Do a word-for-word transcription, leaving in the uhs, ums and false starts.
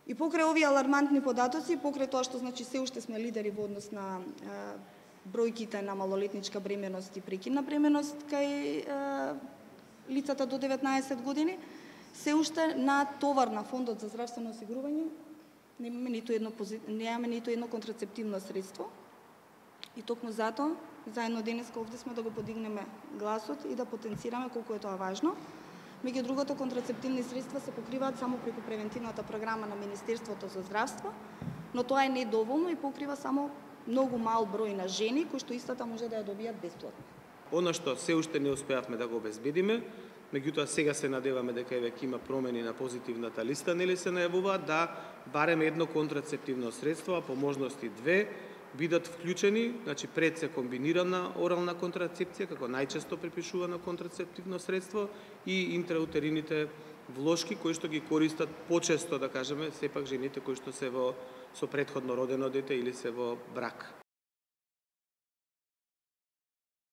И покрај овие алармантни податоци, покрај тоа што значи се уште сме лидери во однос на е, бројките на малолетничка бременост и прекидна бременост кај е, лицата до деветнаесет години, се уште на товар на Фондот за здравствено осигурување немаме ниту едно немаме ниту едно контрацептивно средство. И токму затоа заедно денеска овде сме да го подигнеме гласот и да потенцираме колку е тоа важно. Меѓу другото, контрацептивни средства се покриваат само преку превентивната програма на Министерството за здравство, но тоа е недоволно и покрива само многу мал број на жени кои што истата може да ја добијат бесплатно. Она што се уште не успеавме да го обезбедиме, меѓутоа сега се надеваме дека веќе има промени на позитивната листа, нели се најавуваат да барем едно контрацептивно средство, а по можности две бидат вклучени, значи пред се комбинирана орална контрацепција како најчесто препишувано контрацептивно средство и интраутерините влошки кои што ги користат почесто, да кажеме, сепак жените кои што се во со претходно родено дете или се во брак.